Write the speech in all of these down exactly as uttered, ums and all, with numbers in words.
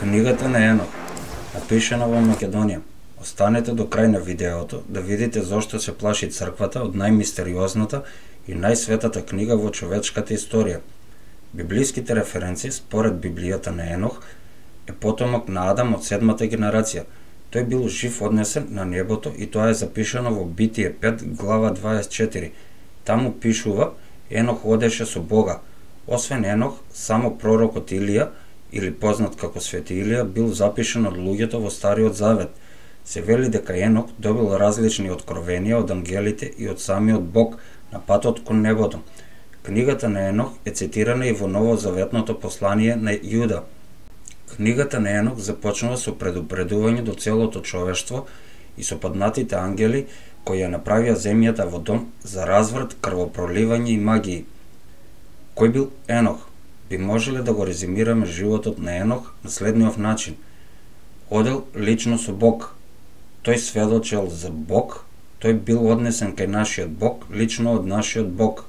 Книгата на Енох, напишана во Македонија. Останете до крај на видеото да видите зошто се плаши црквата од најмистериозната и најсветата книга во човечката историја. Библиските референции според Библијата на Енох е потомок на Адам од седмата генерација. Тој бил жив однесен на небото и тоа е запишано во Битие пет глава дваесет и четири. Таму пишува Енох одеше со Бога. Освен Енох, само пророкот Илија, или познат како Свети Илија, бил запишан од луѓето во Стариот Завет. Се вели дека Енох добил различни откровенија од ангелите и од самиот Бог на патот кон небото. Книгата на Енох е цитирана и во новозаветното послание на Јуда. Книгата на Енох започнува со предупредување до целото човештво и со паднатите ангели кои ја направија земјата во дом за разврат, крвопроливање и магии. Кој бил Енох? Би можеле да го резимираме животот на Енох на следниот начин. Одел лично со Бог. Тој сведочел за Бог, тој бил однесен кај нашиот Бог, лично од нашиот Бог.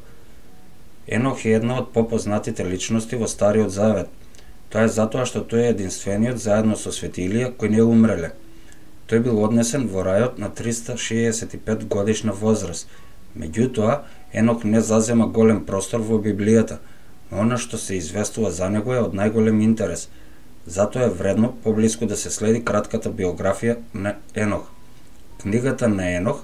Енох е една од попознатите личности во Стариот Завет. Тоа е затоа што тој е единствениот заедно со Свети Илија кој не умреле. Тој бил однесен во рајот на триста шеесет и пет годишна возраст. Меѓутоа, Енох не зазема голем простор во Библијата, но она што се известува за него е од најголем интерес. Затоа е вредно поблиску да се следи кратката биографија на Енох. Книгата на Енох,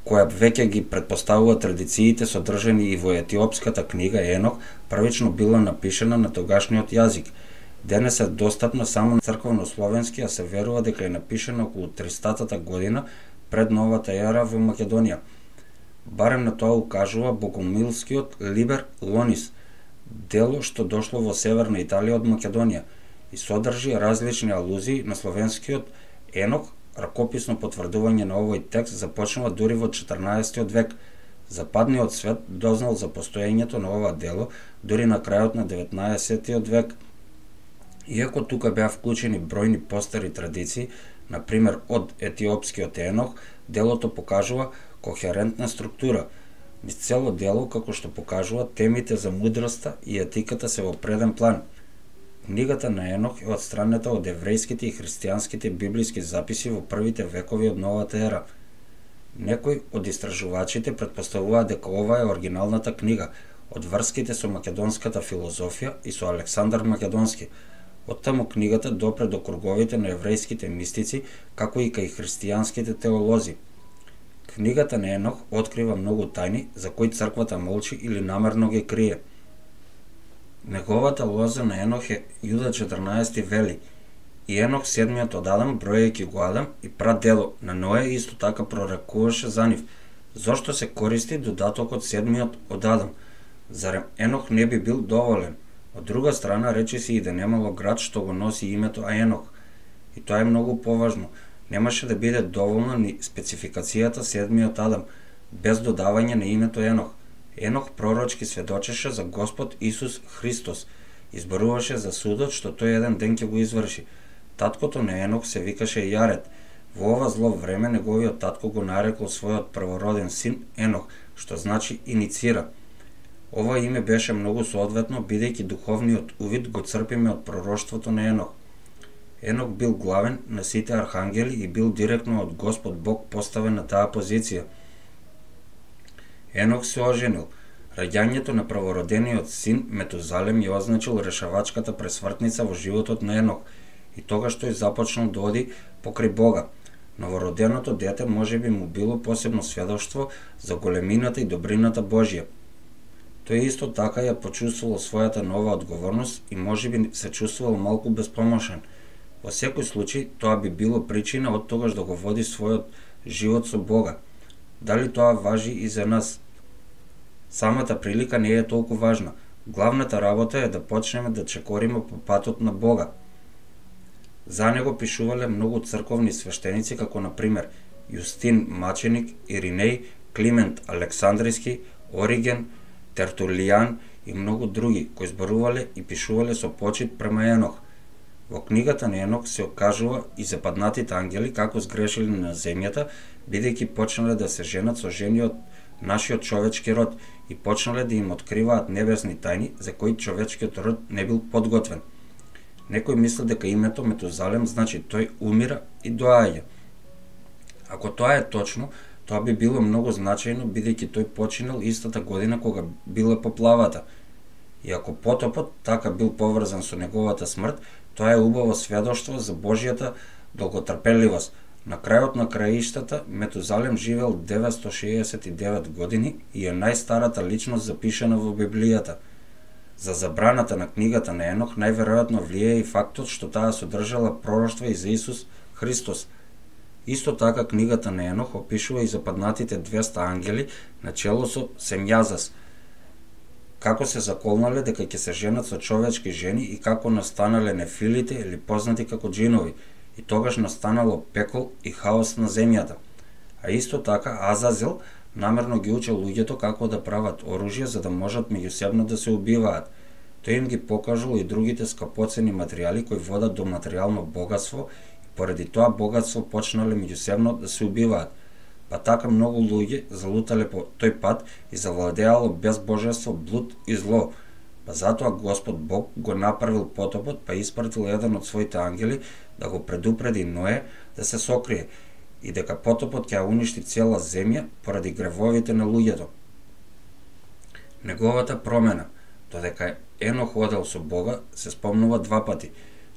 која веќе ги претпоставува традициите содржани и во етиопската книга Енох, првично била напишана на тогашниот јазик. Денес е достапна само на црковнословенски, а се верува дека е напишана околу тристата година пред новата ера во Македонија. Барем на тоа укажува богомилскиот Либер Лонис, дело што дошло во северна Италија од Македонија и содржи различни алузии на словенскиот Енох. Ракописно потврдување на овој текст започнува дури во четрнаесеттиот век. Западниот свет дознал за постоењето на ова дело дури на крајот на деветнаесеттиот век. Иако тука беа вклучени бројни постари традиции, на пример од етиопскиот Енох, делото покажува кохерентна структура. Низ цело дело, како што покажува, темите за мудроста и етиката се во преден план. Книгата на Енох е отстранета од еврејските и христијанските библиски записи во првите векови од новата ера. Некои од истражувачите претпоставуваат дека ова е оригиналната книга, од врските со македонската филозофија и со Александар Македонски. Оттаму книгата допре до круговите на еврејските мистици, како и кај христијанските теолози. Книгата на Енох открива многу тајни за кои црквата молчи или намерно ги крие. Неговата лоза на Енох е Јуда четрнаесет вели: и Енох седмиот од Адам, бројајќи го Адам и прадело на Ноe, исто така прорекуваше за нив. Зошто се користи додатокот седмиот од Адам? Зарем Енох не би бил доволен? Од друга страна, рече се и да немало град што го носи името Енох. И тоа е многу поважно. Немаше да биде доволна ни спецификацијата седмиот Адам, без додавање на името Енох. Енох пророчки сведочеше за Господ Исус Христос, изборуваше за судот што тој еден ден ќе го изврши. Таткото на Енох се викаше Јаред. Во ова зло време неговиот татко го нарекло својот првороден син Енох, што значи иницира. Ова име беше многу соодветно, бидејќи духовниот увид го црпиме од пророштвото на Енох. Енох бил главен на сите архангели и бил директно од Господ Бог поставен на таа позиција. Енох се оженил. Раѓањето на правородениот син Метузалем ја означил решавачката пресвртница во животот на Енох и тогаш тој започнал да оди покрај Бога. Новороденото дете можеби му било посебно сведоштво за големината и добрината Божја. Тој исто така ја почувствувал својата нова одговорност и можеби се чувствувал малку безпомошен. Во секој случај, тоа би било причина од тогаш да го води својот живот со Бога. Дали тоа важи и за нас? Самата прилика не е толку важна. Главната работа е да почнеме да чекориме по патот на Бога. За него пишувале многу црковни свештеници, како на пример Јустин Маченик, Иринеј, Климент Александриски, Ориген, Тертулијан и многу други, кои зборувале и пишувале со почит према Енох. Во книгата на Енох се окажува и западнатите ангели како сгрешили на земјата, бидејќи почнале да се женат со жени од нашиот човечки род и почнале да им откриваат небесни тајни за кои човечкиот род не бил подготвен. Некој мисли дека името Метузалем значи тој умира и доаѓа. Ако тоа е точно, тоа би било многу значајно, бидејќи тој починал истата година кога била поплавата. И ако потопот така бил поврзан со неговата смрт, тоа е убаво сведоштво за Божјата долготрпеливост. На крајот на краиштата, Метузалем живеел деветстотини шеесет и девет години и е најстарата личност запишана во Библијата. За забраната на книгата на Енох најверојатно влијае и фактот што таа содржала пророштва и за Исус Христос. Исто така книгата на Енох опишува и западнатите двеста ангели на чело со Семјазас, како се заколнале дека ќе се женат со човечки жени и како настанале нефилите или познати како джинови, и тогаш настанало пекол и хаос на земјата. А исто така Азазел намерно ги учел луѓето како да прават оружје за да можат меѓусебно да се убиваат. Тој им ги покажал и другите скапоцени материјали кои водат до материјално богатство и поради тоа богатство почнале меѓусебно да се убиваат. Па така многу луѓе залутале по тој пат и завладеало безбожество, блуд и зло. Па затоа Господ Бог го направил потопот, па испратил еден од своите ангели да го предупреди Ное да се сокрие и дека потопот ќе уништи цела земја поради гревовите на луѓето. Неговата промена, додека Енох одел со Бога, се спомнува два пати.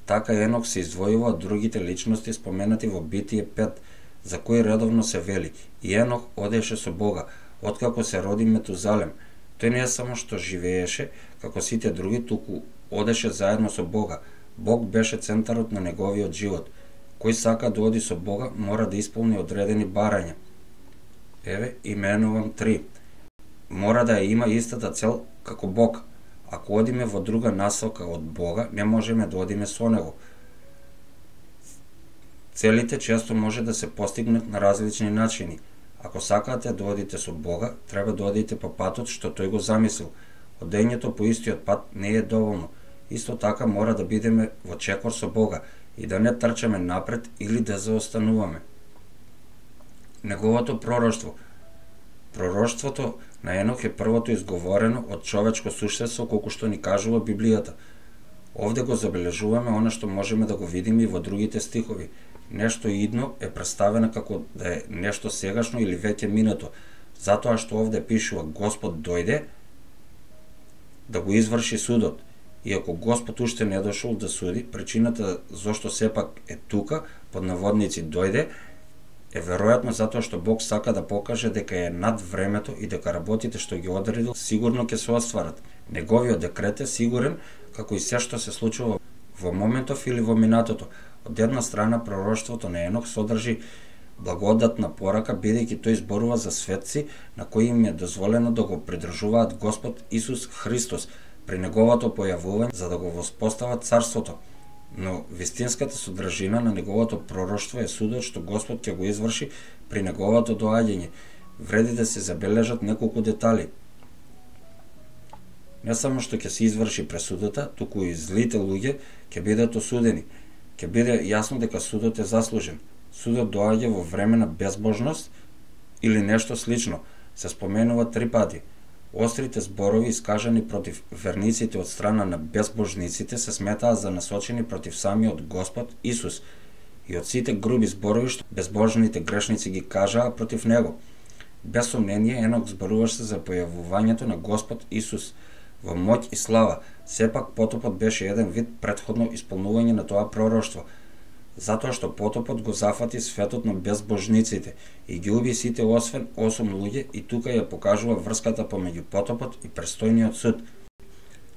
Така Енох се издвојува од другите личности споменати во Битие пет, за кои редовно се вели: и Енох одеше со Бога, откако се роди Метузалем. Тој не само што живееше како сите други, туку одеше заедно со Бога. Бог беше центарот на неговиот живот. Кој сака да оди со Бога, мора да исполни одредени барања. Еве, именувам три. Мора да ја има истата цел како Бог. Ако одиме во друга насока од Бога, не можеме да одиме со Него. Целите често може да се постигнат на различни начини. Ако сакате да одите со Бога, треба да одите по патот што тој го замислил. Одењето по истиот пат не е доволно. Исто така мора да бидеме во чекор со Бога и да не трчаме напред или да заостануваме. Неговото пророштво. Пророштвото на Енох е првото изговорено од човечко суштество, колку што ни кажува Библијата. Овде го забележуваме она што можеме да го видиме и во другите стихови. Нешто идно е представено како да е нешто сегашно или веќе минато, затоа што овде пишува Господ дојде да го изврши судот. И ако Господ уште не дошол да суди, причината зошто сепак е тука, под наводници дојде, е веројатно затоа што Бог сака да покаже дека е над времето и дека работите што ги одредил сигурно ќе се остварат. Неговиот декрет е сигурен, како и се што се случува во моментов или во минатото. Од една страна пророштвото на Енох содржи благодатна порака, бидејќи тој зборува за светци на кои им е дозволено да го придржуваат Господ Исус Христос при неговото појавување за да го воспостават царството. Но вистинската содржина на неговото пророштво е судот што Господ ќе го изврши при неговото доаѓање. Вреди да се забележат неколку детали. Не само што ќе се изврши пресудата, туку и злите луѓе ќе бидат осудени. Ќе биде јасно дека судот е заслужен. Судот доаѓа во време на безбожност или нешто слично. Се споменува три пати. Острите зборови искажани против верниците од страна на безбожниците се сметаа за насочени против самиот Господ Исус и од сите груби зборови што безбожните грешници ги кажаа против него. Без сомнение, Енох зборуваше за појавувањето на Господ Исус во моќ и слава. Сепак потопот беше еден вид претходно исполнување на тоа пророштво, затоа што потопот го зафати светот на безбожниците и ги уби сите освен осум луѓе, и тука ја покажува врската помеѓу потопот и престојниот суд.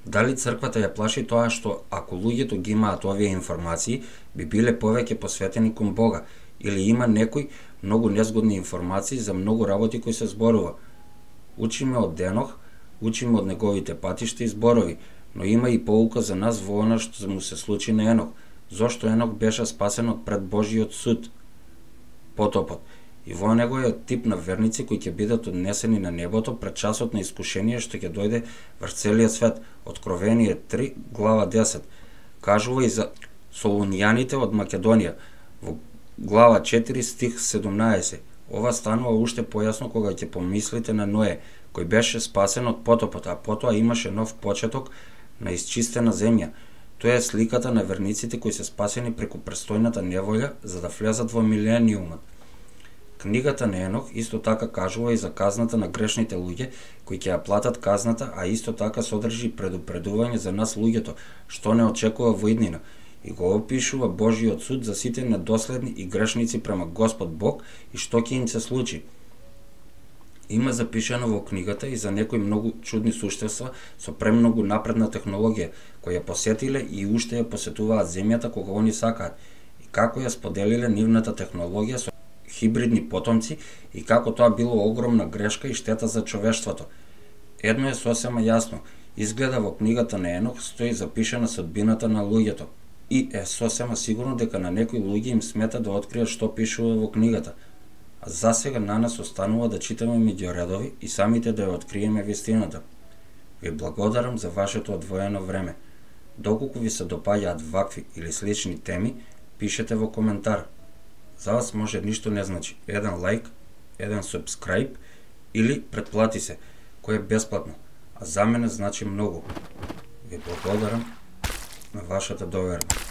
Дали црквата ја плаши тоа што ако луѓето ги имаат овие информации, би биле повеќе посветени кон Бога, или има некои многу незгодни информации за многу работи кои се зборува? Учиме од Енох, учиме од неговите патишта и зборови, но има и поука за нас во она што му се случи на Енох. Зошто Енох беше спасен од пред Божиот суд, потопот, и во него е тип на верници кои ќе бидат однесени на небото пред часот на искушение што ќе дојде врз целиот свет. Откровение три, глава десет. Кажува и за солуњаните од Македонија, во глава четири, стих седумнаесет. Ова станува уште појасно кога ќе помислите на Ное, кој беше спасен од потопот, а потоа имаше нов почеток на исчистена земја. Тоа е сликата на верниците кои се спасени преку престојната неволја за да влезат во милениумот. Книгата на Енох исто така кажува и за казната на грешните луѓе кои ќе ја платат казната, а исто така содржи предупредување за нас луѓето, што не очекува во иднина, и го опишува Божиот суд за сите недоследни и грешници према Господ Бог и што ќе им се случи. Има запишано во книгата и за некои многу чудни суштества со премногу напредна технологија, кои ја посетиле и уште ја посетуваат земјата кога они сакаат, и како ја споделиле нивната технологија со хибридни потомци и како тоа било огромна грешка и штета за човештвото. Едно е сосема јасно, изгледа во книгата на Енох стои запишана судбината на луѓето, и е сосема сигурно дека на некои луѓе им смета да откријат што пишува во книгата. А засега на нас останува да читаме меѓу редови и самите да ја откриеме вистината. Ви благодарам за вашето одвоено време. Доколку ви се допаѓаат вакви или слични теми, пишете во коментар. За вас може ништо не значи. Еден лайк, еден субскрайб или претплати се, кој е бесплатно, а за мене значи многу. Ви благодарам на вашата доверба.